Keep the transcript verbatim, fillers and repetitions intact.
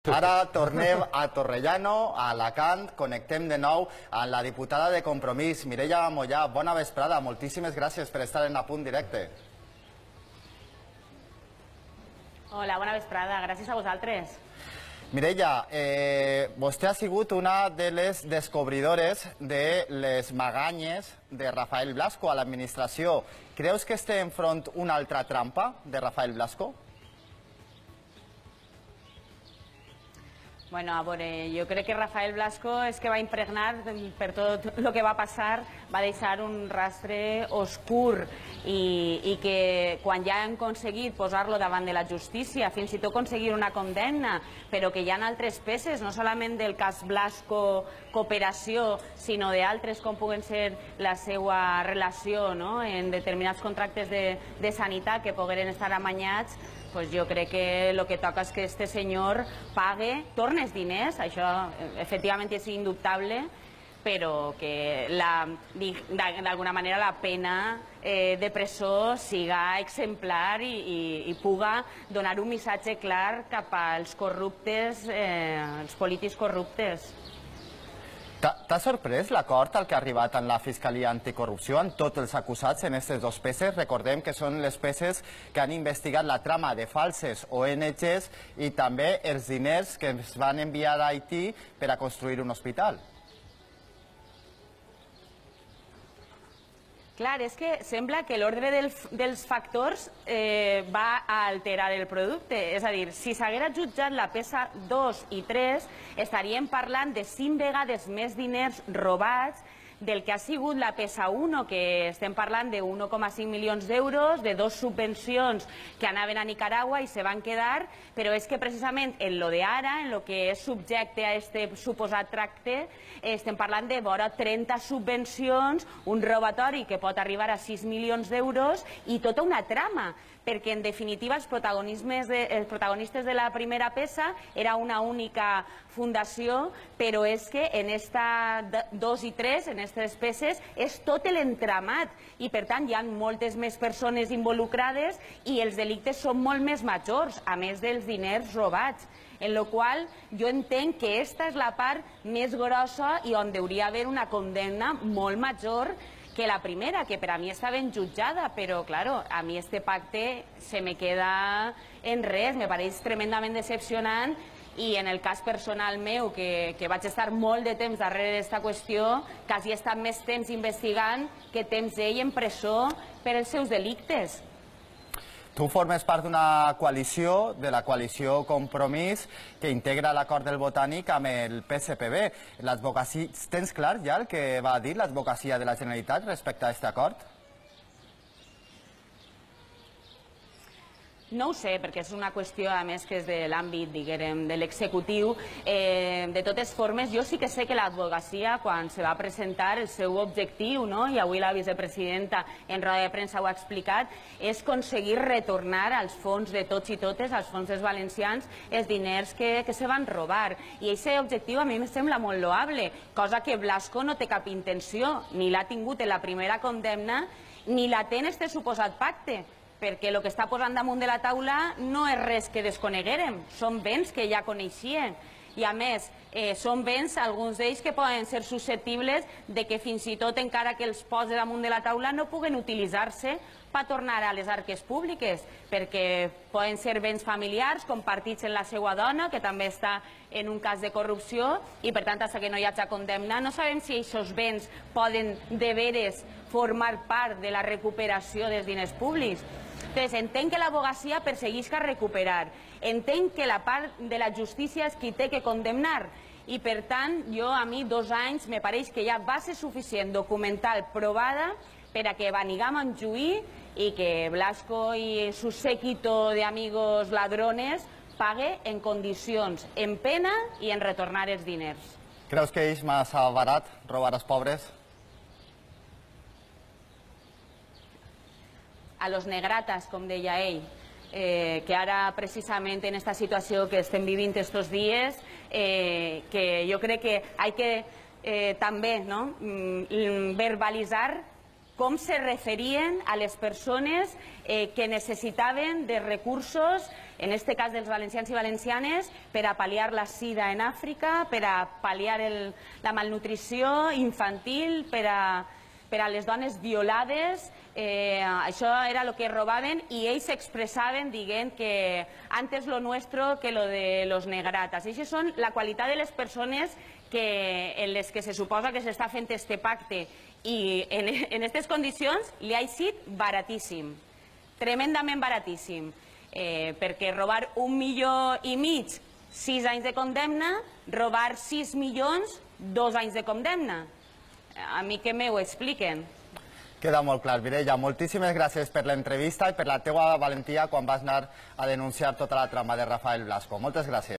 Ara tornem a Torrellano, a Alacant, connectem de nou amb la diputada de Compromís, Mireia Mollà. Bona vesprada, moltíssimes gràcies per estar en A Punt Directe. Hola, bona vesprada, gràcies a vosaltres. Mireia, eh, vostè ha sigut una de les descobridores de les maganyes de Rafael Blasco a l'administració. Creus que estem enfront una altra trampa de Rafael Blasco? Bueno, a veure, jo crec que Rafael Blasco és que va impregnar per tot el que va passar, va deixar un rastre oscur i, i que quan ja han aconseguit posar-lo davant de la justícia, fins i tot aconseguir una condemna, però que hi ha altres peces, no solament del cas Blasco cooperació, sinó d'altres com puguen ser la seva relació no? en determinats contractes de, de sanitat que pogueren estar amanyats. Pues jo crec que el que toca és que este senyor pague, torne els diners, això efectivament és indubtable, però que d'alguna manera la pena eh, de presó siga exemplar i, i, i puga donar un missatge clar cap als corruptes, eh, els polítics corruptes. T'ha sorprès l'acord al que ha arribat en la Fiscalia Anticorrupció amb tots els acusats en aquestes dos peces? Recordem que són les peces que han investigat la trama de falses O N Ges i també els diners que es van enviar a Haití per a construir un hospital. Clar, és que sembla que l'ordre dels factors eh, va a alterar el producte. És a dir, si s'haguera jutjat la peça dos i tres, estaríem parlant de cinc vegades més diners robats del que ha sigut la peça un, que estem parlant de un coma cinc milions d'euros, de dos subvencions que anaven a Nicaragua i se van quedar, però és que precisament en lo de ara, en lo que és subjecte a aquest suposat tracte, estem parlant de vora trenta subvencions, un robatori que pot arribar a sis milions d'euros i tota una trama, perquè en definitiva els protagonistes de la primera peça era una única fundació, però és que en esta dos i tres, en aquestes peces, és tot l'entramat i per tant hi ha moltes més persones involucrades i els delictes són molt més majors, a més dels diners robats. En la qual jo entenc que aquesta és la part més grossa i on hauria d'haver una condemna molt major que la primera, que per a mi està ben jutjada, però, claro, a mi este pacte se me queda en res, me pareix tremendament decepcionant i en el cas personal meu, que, que vaig estar molt de temps darrere d'esta qüestió, quasi he estat més temps investigant que temps ell en presó per els seus delictes. Tu formes part d'una coalició, de la coalició Compromís, que integra l'acord del Botànic amb el P S P B. Tens clar ja el que va dir l'advocacia de la Generalitat respecte a aquest acord? No ho sé, perquè és una qüestió, a més, que és de l'àmbit, diguem, de l'executiu. De totes formes, jo sí que sé que l'advocacia, quan se va presentar el seu objectiu, i avui la vicepresidenta en roda de premsa ho ha explicat, és aconseguir retornar als fons de tots i totes, als fons dels valencians, els diners que se van robar. I aquest objectiu a mi em sembla molt loable, cosa que Blasco no té cap intenció, ni l'ha tingut en la primera condemna, ni la té en este suposat pacte, perquè el que està posant damunt de la taula no és res que desconeguérem, són béns que ja coneixien. I a més, són béns, alguns d'ells, que poden ser susceptibles de que fins i tot, encara que els posi damunt de la taula, no puguen utilitzar-se per tornar a les arques públiques, perquè poden ser béns familiars compartits amb la seva dona, que també està en un cas de corrupció, i per tant, fins que no hi hagi condemna, no sabem si aquests béns poden de veres formar part de la recuperació dels diners públics. Entonces, entenc que l'advocacia perseguisca recuperar, entenc que la part de la justícia és qui té que condemnar, i per tant, jo a mi dos anys me pareix que hi ha base suficient documental provada per a que Banigam Montjuïc i que Blasco i su séquito de amigos ladrones pague en condicions, en pena i en retornar els diners. Creus que és massa barat robar als pobres? A los negratas, com deia ell, que ara precisament en aquesta situació que estem vivint aquests dies, que jo crec que hay que també verbalitzar com se referien a les persones que necessitaven de recursos en este cas dels valencians i valencianes, per a pal·liar la sida en Àfrica, per a pal·liar el, la malnutrició infantil, per a, per a les dones violades. Eh, això era el que robaven i ells expressaven dient que antes lo nuestro que lo de los negratas. Això són la qualitat de les persones que, en les que se suposa que s'està fent este pacte i en aquestes condicions li ha sigut baratíssim, tremendament baratíssim, eh, perquè robar un milió i mig, sis anys de condemna, robar sis milions, dos anys de condemna. A mi que m'ho expliquen. Queda molt clar, Mireia. Moltíssimes gràcies per l'entrevista i per la teua valentia quan vas anar a denunciar tota la trama de Rafael Blasco. Moltes gràcies.